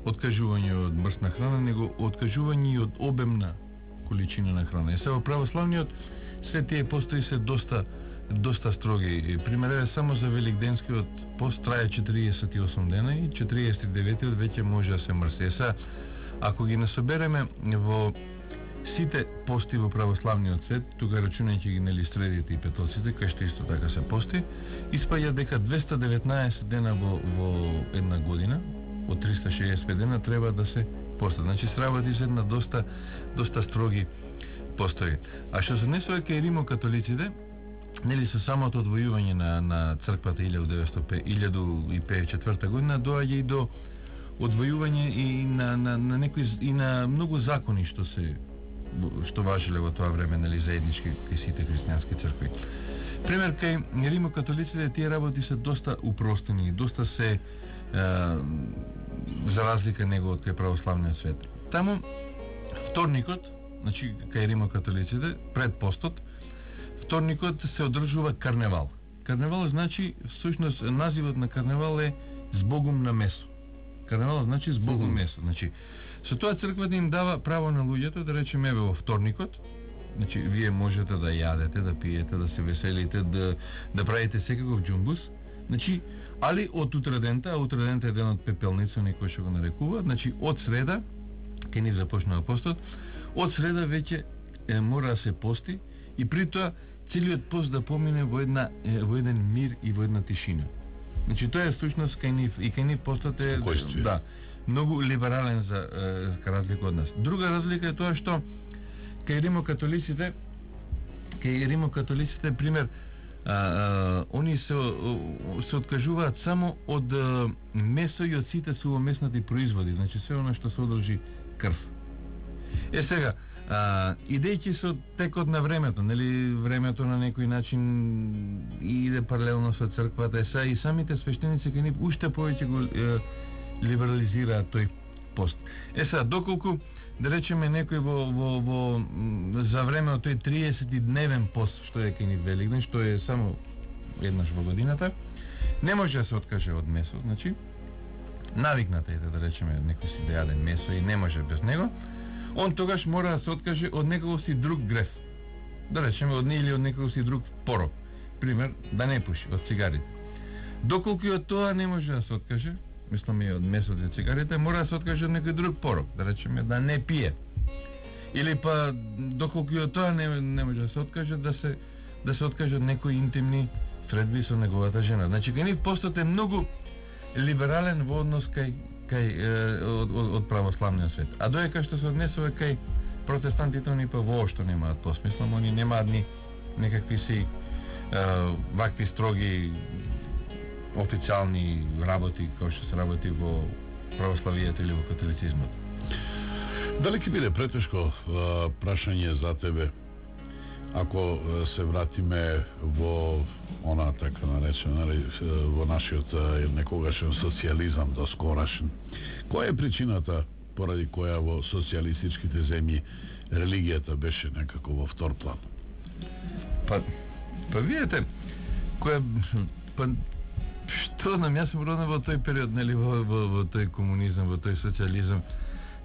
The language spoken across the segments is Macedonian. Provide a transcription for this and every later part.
откажување од мрсна храна, него откажување и од обемна количина на храна. И сега во православниот свет тие постои се доста строги. Примерно само за великденскиот пост трае 48 дена и 49-тиот веќе може да се мрси. Сега ако ги насобереме во сите пости во православниот свет, тука рачунајќи ги нели средите и петоците, кај што исто така се пости, испаѓа дека 219 дена во една година, од 365 дена треба да се поста. Значи сработи се на доста строги постои. А што се однесува кај римокатолиците, нели со самото одвојување на црквата 1054 година доаѓа и до одвојување и на некои и на многу закони што важеле во тоа време, нели, заеднички кај сите христијански цркви. Пример, кај римокатолиците тие работи се доста упростени, доста се за разлика него од кај православниот свет. Таму вторникот, значи кај римокатолиците пред постот, вторникот се одржува карневал. Карневал значи всушност називот на карневал е збогум на месо. Карневал значи збогум месо. Значи со тоа црквата им дава право на луѓето да речеме во вторникот, значи вие можете да јадете, да пиете, да се веселите, да правите секаков џумбус, значи али од утредента, а утредента е денот пепелница, некој што го нарекува, значи од среда, кај ни започнува постот, од среда веќе мора да се пости и при тоа целиот пост да помине во еден мир и во една тишина. Значи тоа е всушност кај нив и кај нив постот е многу либерален за разлика од нас. Друга разлика е тоа што кај римокатолиците пример они се откажуваат само од месо и од сите сувомеснати производи, значи се она што содржи крв. Сега идејќи со текот на времето, нели, времето на некој начин иде паралелно со црквата, сега и самите свештеници кај нив уште повеќе го либерализираат тој пост. Сега доколку да речеме некој во за време од тој 30-дневен пост што е кај нив Великден, што е само еднаш во годината, не може да се откаже од месо, значи навикната е да речеме некој си да јаде месо и не може без него. Он тогаш мора да се откаже од некој си друг греф. Да речеме или од некој си друг порок. Пример, да не пуши, од цигарите. Доколку од тоа не може да се откаже, мислам и од месото и цигарите, мора да се откаже од некој друг порок, да речеме да не пие. Или па доколку од тоа не може да се откаже, да се откаже од некои интимни средби со неговата жена. Значи кај нив постот е многу либерален во однос од православниот свет. А доека што се однесува кај протестантите, они па воопшто немаат пост. Мислам, они немаат ни некакви си вакви строги официјални работи кои што се работи во православието или во католицизмот. Дали ќе биде претешко прашање за тебе ако се вратиме во она така наречена во нашиот некогашен социјализам доскорашен? Која е причината поради која во социјалистичките земји религијата беше некако во втор план? Па видите, што нам, јас сум роден во тој период, нели, во тој комунизам, во тој социјализам,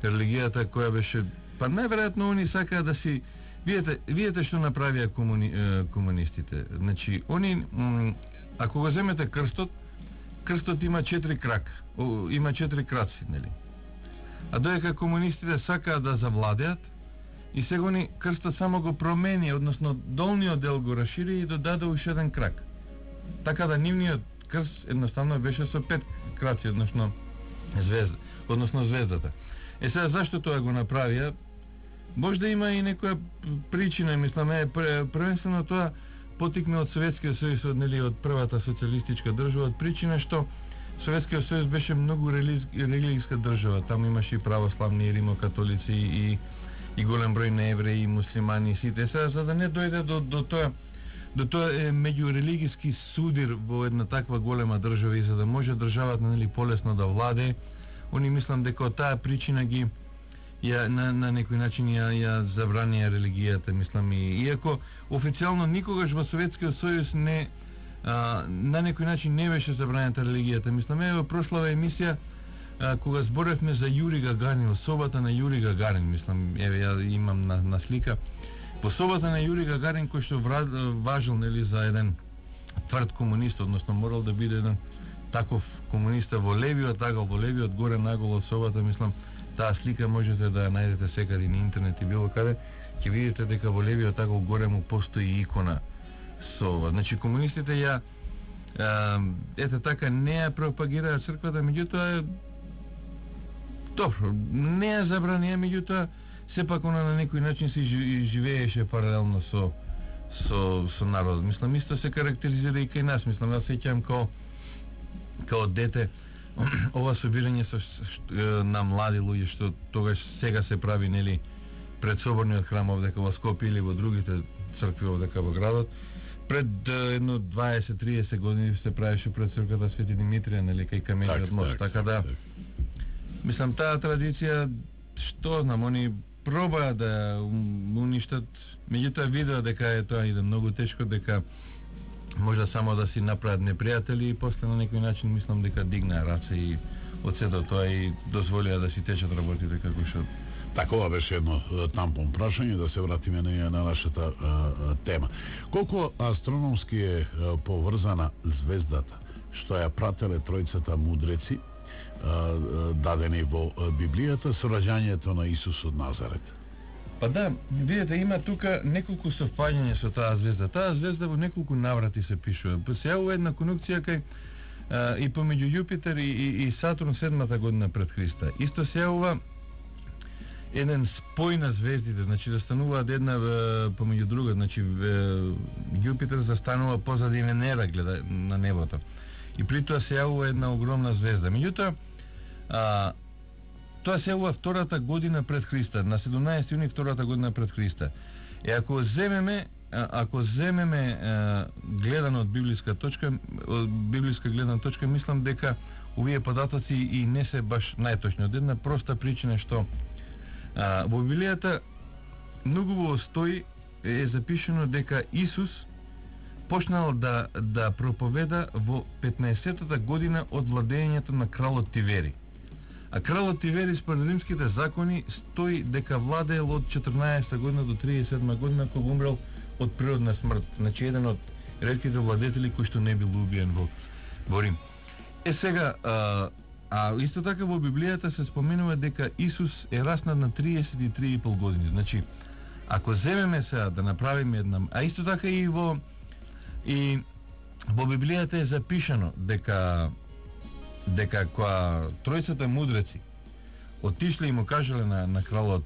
религијата која беше, па најверојатно они сакаа да си, видите што направија комунистите. Значи, они, ако го земете крстот има 4 крака, има 4 краци, нели? А доека комунистите сакаа да завладеат, и сега они крстот само го промени, односно долниот дел го расшири и додаде уште еден крак. Така да нивниот крст едноставно беше со 5 краци, односно звездата. Сега зашто тоа го направија? Може да има и некоја причина, мислам, првенствено тоа потикна од Советскиот сојуз, нели, од првата социјалистичка држава, од причина што Советскиот сојуз беше многу религијска држава. Таму имаше и православни, и римокатолици, и голем број на евреи, и муслимани, и сите. Сега, за да не дојде до тоа меѓурелигиски судир во една таква голема држава и за да може државата, нели, полесно да владе, они мислам дека од таа причина ги на некој начин ја забранија религијата, мислам, и иако официјално никогаш во Советскиот сојуз на некој начин не беше забранета религијата. Мислам, во прошлава емисија кога зборевме за Јури Гагарин, собата на Јури Гагарин, мислам, еве ја имам на слика, по собата на Јури Гагарин кој што важил, нели, за еден тврд комунист, односно морал да биде еден таков комуниста во левиот, така во левиот горе наголо од собата, мислам, таа слика можете да ја најдете секаде на интернет и било каде, ќе видите дека во левиот така горе му постои икона со ова. Значи комунистите ја ете така не ја пропагираат црквата, меѓутоа добро, не ја забранија, меѓутоа сепак она на некој начин се живееше паралелно со народот. Мислам, исто се карактеризира и кај нас. Мислам, јас сеќам као дете ова собирање на млади луѓе што тогаш сега се прави, нели, пред соборниот храм овдека во Скопје или во другите цркви овдека во градот. Пред едно 20-30 години се правеше пред црквата Свети Димитрија, нели, кај камениот мост. Така да мислам, таа традиција, што знам, они пробаа да уништат, меѓутоа видеа дека е тоа иде многу тешко, дека можда само да си направат непријатели и после на некој начин мислам дека дигнаа раце и од сето тоа и дозволија да си течат работите како што. Такова беше едно тампон прашање, да се вратиме на нашата тема. Колку астрономски е поврзана звездата што ја прателе тројцата мудреци дадени во Библијата со раѓањето на Исус од Назарет? Па да, видите, има тука неколку совпаѓања со таа звезда. Таа звезда во неколку наврати се пишува. Се јавува една конјункција кај и помеѓу Јупитер и Сатурн 7-та година пред Христа. Исто се јавува еден спој на звездите, значи да стануваат една помеѓу друга, значи Јупитер застанува позади Венера, гледа на небото. И при тоа се јавува една огромна звезда. Меѓутоа, тоа се јавува втората година пред Христа, на 17 јуни втората година пред Христа. И ако земеме гледано од библиска гледна точка, мислам дека овие податоци и не се баш најточни. Од една проста причина што во Библијата многу стои е запишено дека Исус почнал да проповеда во 15-та година од владењето на кралот Тивери. А кралот Тивери според римските закони стои дека владеел од 14-та година до 37-та година, кога умрел од природна смрт. Значи еден од ретките владетели кој што не бил убиен во Рим. Сега, исто така во Библијата се споменува дека Исус е раснат на 33,5 години. Значи, ако земеме сега да направиме една... А исто така и во Библијата е запишано дека кога тројцата мудреци отишле и му кажале на кралот,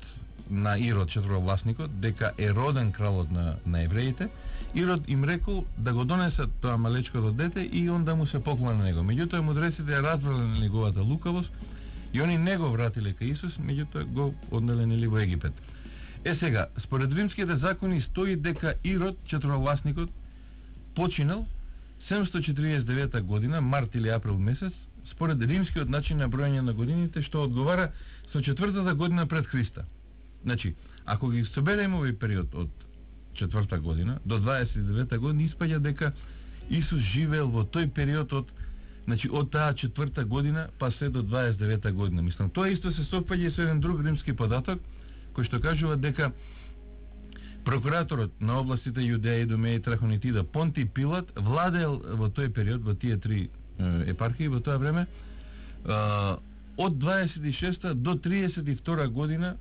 на Ирод, четворовласникот, дека е роден кралот на евреите, Ирод им рекол да го донесат тоа малечкото дете и он да му се поклони на него. Меѓутоа мудреците ја разбрале на неговата лукавост и они не го вратиле кај Исус, меѓутоа го однеле нели во Египет. Сега, според римските закони стои дека Ирод, четворовласникот, починал 749 година, март или април месец, според римскиот начин на броење на годините, што одговара со 4-та година пред Христа. Значи, ако ги собереме овој период од 4-та година до 29-та година, испаѓа дека Исус живеел во тој период од таа 4-та година па се до 29-та година. Мислам, тоа исто се совпаѓа со еден друг римски податок, кој што кажува дека прокураторот на областите Јудеја, Идумеја и Трахонитида Понти Пилат владеел во тој период, во тие три епархии, во тоа време, од 26-та до 32-та година,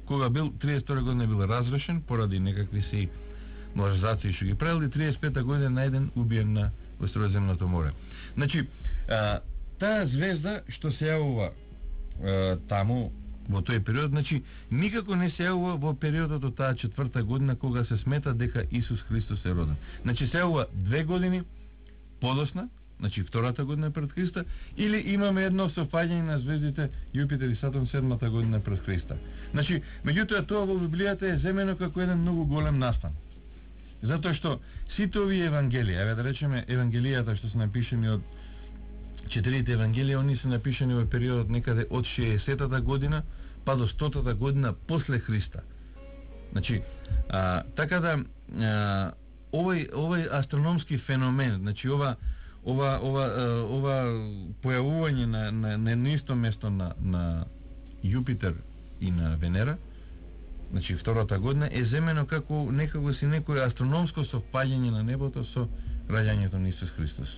кога бил 32-та година бил разрешен поради некакви си малверзации што ги правили, 35-та година најден убиен во Средоземното море. Значи, таа звезда што се јавува таму во тој период, значи никако не се јавува во периодот од таа 4-та година кога се смета дека Исус Христос е роден. Значи се јавува 2 години подосна, значи втората година пред Христа, или имаме едно совпаѓање на звездите Јупитер и Сатурн 7-та година пред Христа. Значи, меѓутоа тоа во Библијата е земено како еден многу голем настан. Затоа што сите овие евангелија, еве да речеме евангелијата што се напишани од 4 евангелија, они се напишани во периодот некаде од 60-та година па до 100-та година после Христа. Значи, така да овој астрономски феномен, значи ова појавување на исто место на Јупитер и на Венера, значи втората година, е земено како некако некој астрономско совпаѓање на небото со раѓањето на Исус Христос.